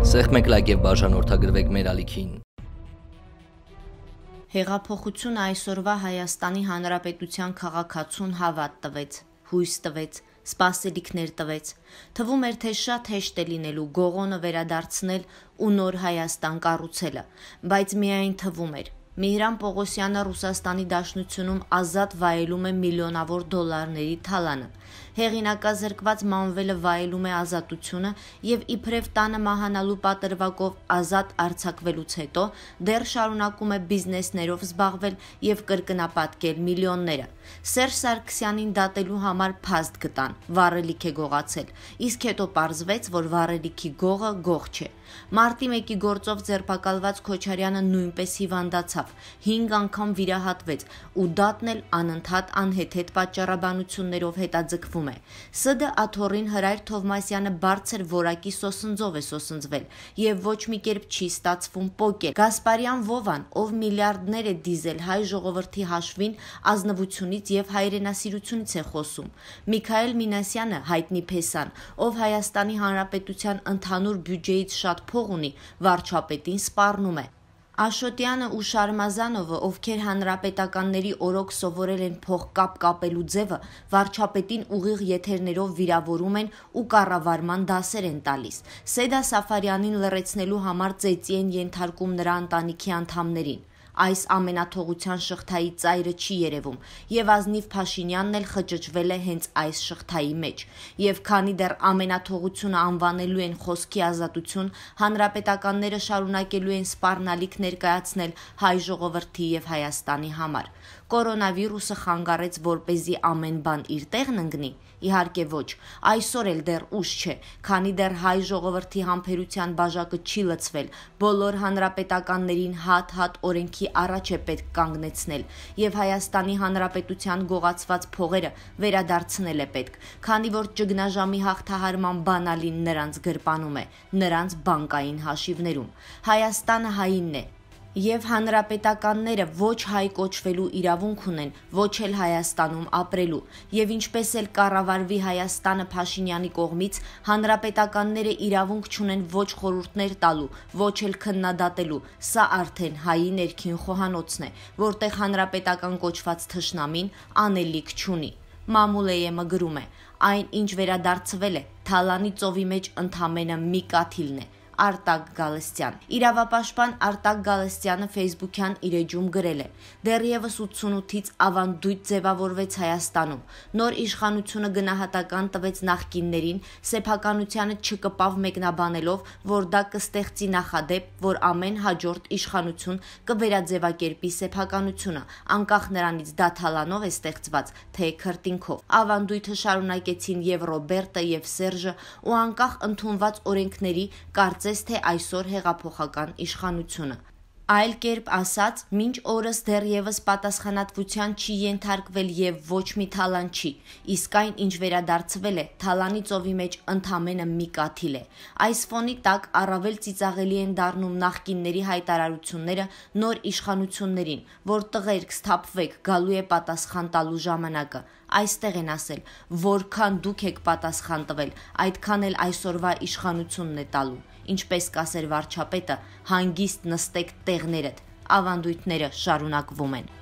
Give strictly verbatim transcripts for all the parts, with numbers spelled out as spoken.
Սեղմեք լայք եւ բաժանորդագրվեք մեր ալիքին։ Հեղափոխությունը այսօրվա Հայաստանի Հանրապետության քաղաքացուն հավատ տվեց, հույս տվեց, սպասելիքներ տվեց։ Թվում էր, թե շատ հեշտ է լինելու գողոնը վերադարձնել ու նոր Հայաստան կառուցելը, բայց միայն թվում էր։ Միհրան Պողոսյանը Ռուսաստանի Դաշնությունում ազատ վայելում է միլիոնավոր դոլարների թալանը։ Հեղինակազրկված Մանվելը վայելում է ազատությունը եւ իբրև տանը մահանալու պատրվակով ազատ արձակվելուց հետո դեռ շարունակում է բիզնեսներով զբաղվել եւ կրկնապատկել միլիոնները։ Սերժ Սարգսյանին դատելու համար փաստ գտան, վառելիք է գողացել, իսկ հետո պարզվեց, որ վառելիքի գողը գող չէ։ Մարտի մեկի գործով ձերբակալված Քոչարյանը նույնպես հիվանդացավ, հինգ անգամ վիրահատվեց ու դատն էլ անընդհատ անհեթեթ պատճառաբանություններով հետաձգվում է։ ՍԴ աթոռին Հրայր Թովմասյանը բարձր որակի սոսնձով է սոսնձվել եւ ոչ մի կերպ չի ստացվում պոկել։ Գասպարյան Վովան, ով միլիարդներ է դիզել հայ ժողովրդի հաշվին, ազնվությունից եւ հայրենասիրությունից է խոսում։ Միքայել Մինասյանը, հայտնի փեսան, ով Հայաստանի Հանրապետության ընդհանուր բյուջեից շատ փող ունի, վարչապետին սպառնում է։ Աշոտյանը ու Շարմազանովը, ովքեր հանրապետականների օրոք սովորել են փող կապ կապելու ձևը, վարչապետին ուղիղ եթերներով վիրավորում են ու կառավարման դասեր են տալիս։ Սեդա Սաֆարյանին լռեցնելու համար ծեծի են ենթարկում նրա ընտանիքի անդամներին։ Այս ամենաթողության շղթայի ծայրը չի երևում, եւ Ազնիվ Փաշինյանն էլ խճճվել է հենց այս շղթայի մեջ։ Եվ քանի դեռ ամենաթողությունը անվանելու են խոսքի ազատություն, հանրապետականները շարունակելու են սպառնալիք ներկայացնել հայ ժողովրդի եւ Հայաստանի համար։ Կորոնավիրուսը խանգարեց, որպեսզի ամեն բան իր տեղն ընկնի։ Իհարկե ոչ, այսօր էլ դեռ ուշ չէ, քանի դեռ հայ ժողովրդի համբերության բաժակը չի լցվել, բոլոր հանրապետականներին հատ-հատ օրենքի առաջ է պետք կանգնեցնել եւ Հայաստանի Հանրապետության գողացված փողերը վերադարձնել է պետք, քանի որ ճգնաժամի հաղթահարման բանալին նրանց գրպանում է, նրանց բանկային հաշիվներում։ Հայաստանը հայինն է։ Եվ հանրապետականները ոչ հայ կոչվելու իրավունք ունեն, ոչ էլ Հայաստանում ապրելու, եւ ինչպես էլ կառավարվի Հայաստանը Փաշինյանի կողմից, հանրապետականները իրավունք չունեն ոչ խորհուրդներ տալու, ոչ էլ քննադատելու։ Սա արդեն հայի ներքին խոհանոցն է, որտեղ հանրապետական կոչված թշնամին անելիք չունի։ Մամուլեյեմը գրում է. այն, ինչ վերադարձվել է, Թալանի ծովի մեջ ընդամենը մի կաթիլն է։ Արտակ Գալստյան։ Իրավապաշտպան Արտակ Գալստյանը ֆեյսբուքյան իր էջում գրել է. դեռևս ութսունութից ավանդույթ ձևավորվեց Հայաստանում։ Նոր իշխանությունը գնահատական տվեց նախկիններին, սեփականությանը չկպավ մեկնաբանելով, որ դա կստեղծի նախադեպ, որ ամեն հաջորդ իշխանություն կվերաձևակերպի սեփականությունը, անկախ նրանից դա Թալանով է ստեղծված, թե քրտինքով։ Ավանդույթը շարունակեցին եւ Ռոբերտը եւ Սերժը ու անկախ ընդունված օրենքների կարծես թե այսօր հեղափոխական իշխանությունը։ Այլ կերպ ասած, մինչ օրս դեռևս պատասխանատվության չի ենթարկվել եւ ոչ մի Թալան չի, իսկ այն, ինչ վերադարձվել է, Թալանի ծովի մեջ ընդամենը մի կաթիլ է։ Այս ֆոնի տակ առավել ծիծաղելի են դառնում նախկինների հայտարարությունները նոր իշխանություններին, որ տղերք սթափվեք, գալու է պատասխան տալու ժամանակը։ Այստեղ են ասել, որքան դուք եք պատասխան տվել, այդքան էլ այսօրվա իշխանությունն է տալու։ Ինչպես կասեր վարչապետը, հանգիստ նստեք տեղներդ, ավանդույթները շարունակվում են։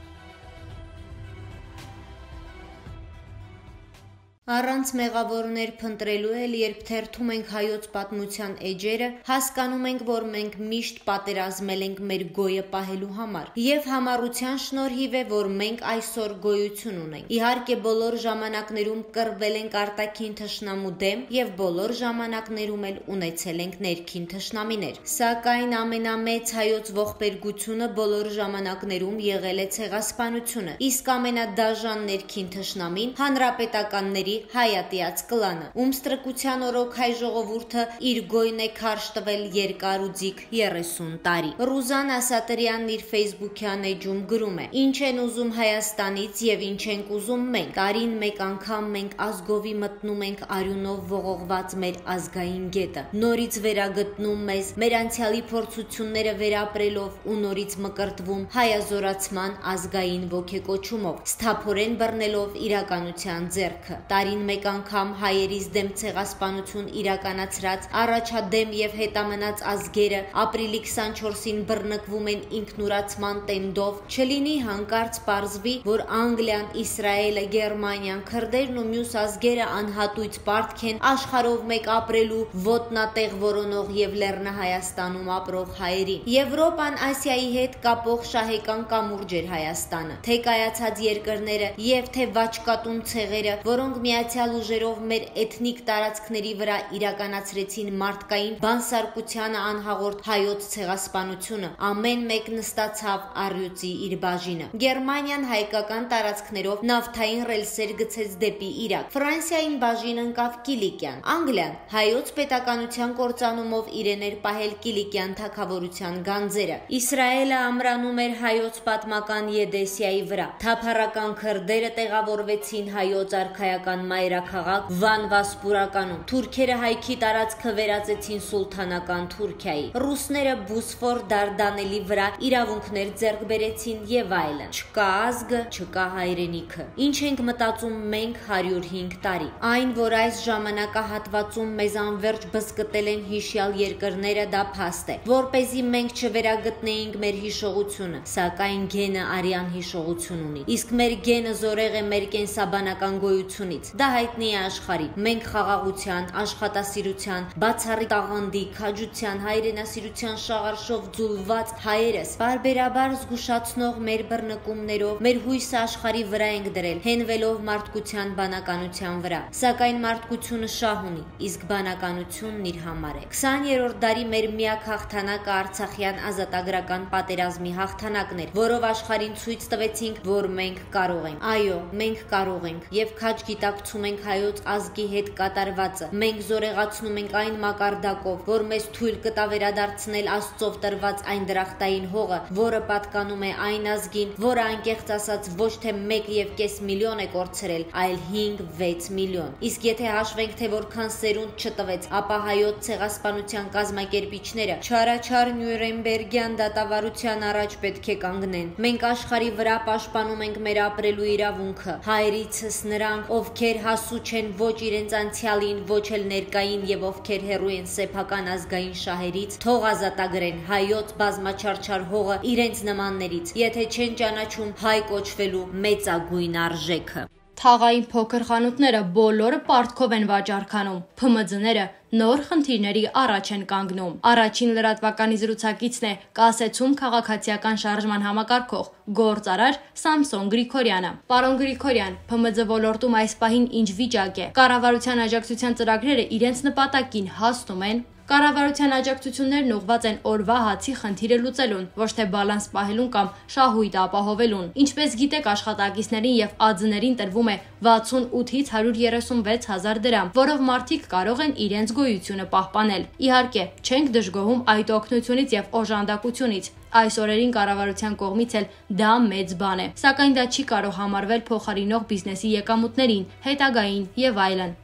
Առանց մեղավորներ փնտրելու էլ, երբ թերթում ենք հայոց պատմության էջերը, հասկանում ենք, որ մենք միշտ պատերազմել ենք մեր գոյը պահելու համար, եւ համառության շնորհիվ է, որ մենք այսօր գոյություն ունենք։ Իհարկե, բոլոր ժամանակներում կռվել ենք արտաքին թշնամու դեմ եւ բոլոր ժամանակներում էլ ունեցել ենք ներքին թշնամիներ։ Սակայն ամենամեծ հայոց ողբերգությունը բոլոր ժամանակներում եղել է ցեղասպանությունը, իսկ ամենադաժան ներքին թշնամին հանրապետականների հայատյաց կլանը, ում ստրկության օրոք հայ ժողովուրդը իր գոյն է քարշ տվել երկար ու ձիգ երեսուն տարի։ Ռուզան Ասատրյանն իր ֆեյսբուքյան էջում գրում է. ինչ են ուզում Հայաստանից եւ ինչ ենք ուզում մենք։ Տարին մեկ անգամ մենք ազգովի մտնում ենք արյունով ողողված մեր ազգային գետը, նորից վերագտնում մեզ, մեր անցյալի փորձությունները վերապրելով ու նորից մկրտվում հայազորացման ազգային ոգեկոչումով, սթափորեն բռնելով իրականության ձեռքը։ տարին մեկ անգամ հայերիս դեմ ցեղասպանություն իրականացրած առաջադեմ եւ հետամնաց ազգերը ապրիլի քսանչորսին բռնկվում են ինքնուրացման տենդով, չլինի հանկարծ պարզվի, որ Անգլիան, Իսրայելը, Գերմանիան, քրդերն ու մյուս ազգերը անհատույց պարտք են աշխարհով մեկ ապրելու ոտնատեղ որոնող եւ Լեռնահայաստանում ապրող հայերին։ Եվրոպան Ասիայի հետ կապող շահեկան կամուրջ էր Հայաստանը, թե կայացած երկրները եւ թե վաճկատուն ցեղերը, որոնք միացյալ ուժերով մեր էթնիկ տարածքների վրա իրականացրեցին մարդկային բանսարկությանը անհաղորդ հայոց ցեղասպանությունը, ամեն մեկ նստացավ առյուծի իր բաժինը։ Գերմանիան հայկական տարածքներով նավթային ռելսեր գցեց դեպի Իրաք, Ֆրանսիային բաժին ընկավ Կիլիկիան, Անգլիան հայոց պետականության կործանումով իրեն էր պահել Կիլիկյան թագավորության գանձերը, Իսրայելը ամրանում էր հայոց պատմական Եդեսիայի վրա, թափառական քրդերը տեղավորվեցին հայոց արքայական մայրաքաղաք Վան-Վասպուրականում, թուրքերը հայքի տարածքը վերածեցին սուլթանական Թուրքիայի, ռուսները Բոսֆոր Դարդանելի վրա իրավունքներ ձեռք բերեցին եւ այլն։ Չկա ազգը, չկա հայրենիքը։ Ինչ ենք մտածում մենք հարյուր հինգ տարի։ Այն, որ այս ժամանակահատվածում մեզ անverջ բզկտել են հիշյալ երկրները, դա փաստ է, որպեսզի մենք չվերագտնեինք մեր հիշողությունը, սակայն գենը արյան հիշողություն ունի։ Իսկ մեր գենը զորեղ է մեր կենսաբանական գոյությունից։ Դա հայտնի է աշխարհին։ Մենք խաղաղության, աշխատասիրության, բացառիկ տաղանդի, քաջության, հայրենասիրության շաղարշով ձուլված հայերս բարբերաբար զգուշացնող մեր բռնկումներով մեր հույսը աշխարհի վրա ենք դրել, հենվելով մարդկության բանականության վրա։ Սակայն մարդկությունը շահ ունի, իսկ բանականությունն իր համար է։ քսաներորդ դարի մեր միակ հաղթանակը Արցախյան ազատագրական պատերազմի հաղթանակն էր, որով աշխարհին ցույց տվեցինք, որ մենք կարող ենք։ Այո, մենք կարող ենք եւ քաջ գիտակցում ենք հայոց ազգի հետ կատարվածը։ Մենք զորեղացնում ենք այն մակարդակով, որ մեզ թույլ կտա վերադարձնել Աստծով տրված այն դրախտային հողը, որը պատկանում է այն ազգին, որը անկեղծ ասած ոչ թե մեկ եւ կես միլիոն է կորցրել, այլ հինգ վեց միլիոն։ Իսկ եթե հաշվենք, թե որքան սերունդ չտվեց, ապա հայոց ցեղասպանության կազմակերպիչները չարաչար Նյուրնբերգյան դատավարության առաջ պետք է կանգնեն։ Մենք աշխարհի վրա պաշտպանում ենք մեր ապրելու իրավունքը։ Հայրիցս նրանք, ովքեր հասու չեն ոչ իրենց անցյալին, ոչ էլ ներկային եւ ովքեր հեռու են սեփական ազգային շահերից, թող ազատագրեն հայոց բազմաչարչար հողը իրենց նմաններից, եթե չեն ճանաչում հայ կոչվելու մեծագույն արժեքը։ Թաղային փոքր խանութները բոլորը պարտքով են վաճառքանում, Փ M Ծ-ները նոր խնդիրների առաջ են կանգնում։ Առաջին լրատվականի զրուցակիցն է կասեցում քաղաքացիական շարժման համակարգող գործարար Սամսոն Գրիգորյանը։ Պարոն Գրիգորյան, Փ M Ծ ոլորտում այս պահին ինչ վիճակ է։ Կառավարության աջակցության ծրագրերը իրենց նպատակին հասնում են։ Կառավարության աջակցություններն ուղղված են օրվա հացի խնդիրը լուծելուն, ոչ թե բալանս պահելուն կամ շահույթ ապահովելուն։ Ինչպես գիտեք, աշխատակիցներին եւ Ա Ձ-ներին տրվում է վաթսունութից հարյուր երեսունվեց հազար դրամ, որով մարդիկ կարող են իրենց գոյությունը պահպանել։ Իհարկե, չենք դժգոհում այդ օգնությունից եւ օժանդակությունից։ Այս օրերին կառավարության կողմից էլ դա մեծ բան է, սակայն դա չի կարող համարվել փոխարինող բիզնեսի եկամուտներին, հետագային եւ այլն։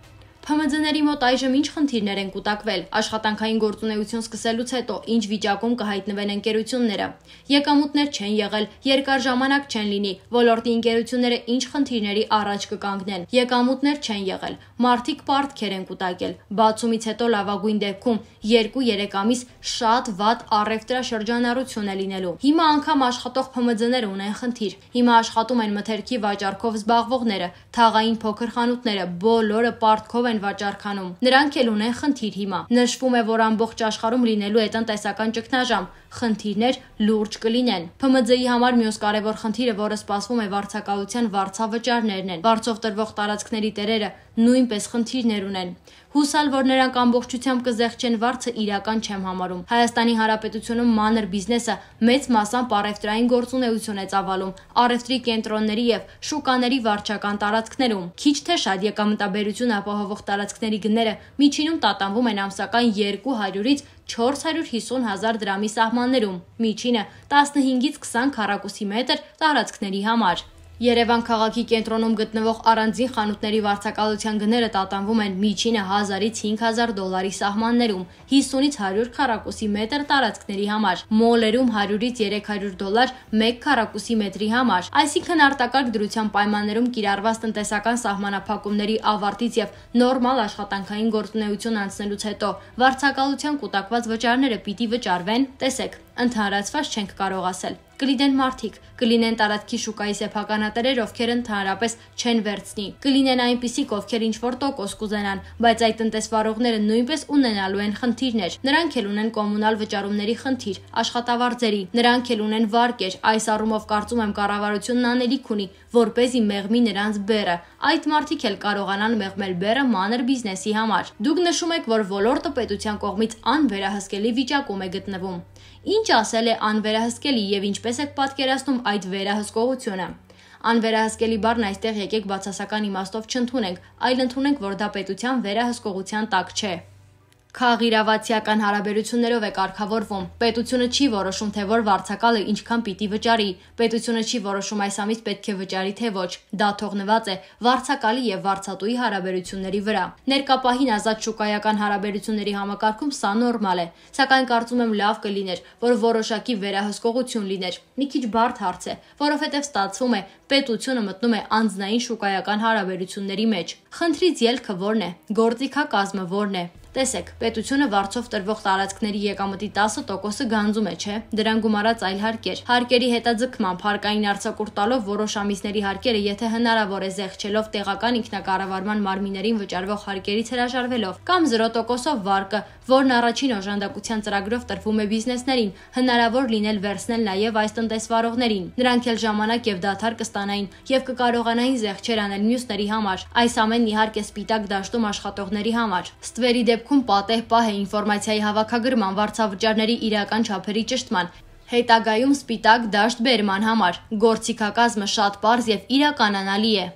Փ M Ծ-ների մոտ այժմ ինչ խնդիրներ են կուտակվել, աշխատանքային գործունեություն սկսելուց հետո ինչ վիճակում կհայտնվեն ընկերությունները, եկամուտներ չեն եղել, երկար ժամանակ չեն լինի, ոլորտի ընկերությունները ինչ խնդիրների առաջ կկանգնեն, եկամուտներ չեն եղել, մարդիկ պարտքեր են կուտակել, բացումից հետո լավագույն դեպքում երկու-երեք ամիս շատ վատ առևտրաշրջանառություն է լինելու։ Հիմա անգամ աշխատող Փ M Ծ-ները ունեն խնդիր, հիմա աշխատում են մթերքի վաճառքով զբաղվողները, թաղային փոքր խանութները, բոլորը պարտքով են վաճառքանում։ Նրանք էլ ունեն խնդիր հիմա։ Նշվում է, որ ամբողջ աշխարհում լինելու է տնտեսական ճգնաժամ, խնդիրներ լուրջ կլինեն։ Փ M Ծ-ի համար մյուս կարևոր խնդիրը, որը սպասվում է վարձակալության վարձավճարներն են։ Վարձով տրվող տարածքների տերերը նույնպես խնդիրներ ունեն։ Հուսալ, որ նրանք ամբողջությամբ կզեղչեն վարձը իրական չեմ համարում։ Հայաստանի Հանրապետությունում մանր բիզնեսը մեծ մասամբ առևտրային գործունեություն է ծավալում, առևտրի կենտրոնների եւ շուկաների վարչական տարածքներում։ Քիչ թե շատ եկամտաբերություն ապահովող տարածքների գները միջինում տատանվում են ամսական երկու հարյուրից չորս հարյուր հիսուն հազար դրամի սահմաններում, միջինը տասնհինգից քսան քառակուսի մետր տարածքների համար։ Երևան քաղաքի կենտրոնում գտնվող առանձին խանութների վարձակալության գները տատանվում են միջինը հազարից հինգ հազար դոլարի սահմաններում, հիսունից հարյուր քառակուսի մետր տարածքների համար, մոլերում հարյուրից երեք հարյուր դոլար մեկ քառակուսի մետրի համար, այսինքն արտակարգ դրության պայմաններում կիրառված տնտեսական սահմանափակումների ավարտից եւ նորմալ աշխատանքային գործունեություն անցնելուց հետո վարձակալության կուտակված վճարները պիտի վճարվեն, տեսեք, ընդհանրացված չենք կարող ասել։ Կլինեն մարդիկ, կլինեն տարածքի շուկայի սեփականատերեր, ովքեր ընդհանրապես չեն վերցնի, կլինեն այնպիսիք, ովքեր ինչ-որ տոկոս կուզենան, բայց այդ տնտեսվարողները նույնպես ունենալու են խնդիրներ, նրանք էլ ունեն կոմունալ վճարումների խնդիր, աշխատավարձերի, նրանք էլ ունեն վարկեր, այս առումով կարծում եմ կառավարությունն անելիք ունի, որպեսզի մեղմի նրանց բեռը, այդ մարդիկ էլ կարողանան մեղմել բեռը մանր բիզնեսի համար։ Դուք նշում եք, որ ոլորտը պետության կողմից անվերահսկելի վիճակում է գտնվում։ Ինչ ասել է անվերահսկելի եւ ինչպես եք պատկերացնում այդ վերահսկողությունը։ Անվերահսկելի բառն այստեղ եկեք բացասական իմաստով չընդունենք, այլ ընդունենք, որ դա պետության վերահսկողության տակ չէ։ Քաղաքիրավացիական հարաբերություններով է կարգավորվում։ Պետությունը չի որոշում, թե որ վարձակալը ինչքան պիտի վճարի։ Պետությունը չի որոշում այս ամիս պետք է վճարի, թե ոչ։ Դա թողնված է վարձակալի եւ վարձատուի հարաբերությունների վրա։ Ներկապահին ազատ շուկայական հարաբերությունների համակարգում սա նորմալ է, սակայն կարծում եմ լավ կլիներ, որ որոշակի վերահսկողություն լիներ։ Մի քիչ բարդ հարց է, որովհետեւ ստացվում է պետությունը մտնում է անձնային շուկայական հարաբերությունների մեջ։ Խնդրից ելքը ո՞րն է։ Գործիքակազմը ո՞րն է։ Տեսեք, պետությունը վարձով տրվող տարածքների եկամտի տասը տոկոսը գանձում է, չէ՞։ Դրան գումարած այլ հարկեր։ Հարկերի հետաձգմամբ հարկային արձակուրդ տալով որոշ ամիսների հարկերը, եթե հնարավոր է զեղչելով տեղական ինքնակառավարման մարմիններին վճարվող հարկերից հրաժարվելով, կամ զրո տոկոսով վարկը, որն առաջին օժանդակության ծրագրով տրվում է բիզնեսներին, հնարավոր լինել վերցնել նաև այս տնտեսվարողներին։ Նրանք էլ ժամանակ եւ դադար կստանային եւ կկարողանային զեղչեր անել մյուսների համար։ Այս ամենն իհարկե սպիտակ դաշտում աշխատողների համար։ Ստվերի դեպքում պատեհ պահ է ինֆորմացիայի հավաքագրման, վարձավճարների իրական չափերի ճշտման, հետագայում սպիտակ դաշտ բերման համար։ Գործիքակազմը շատ պարզ եւ իրականանալի է։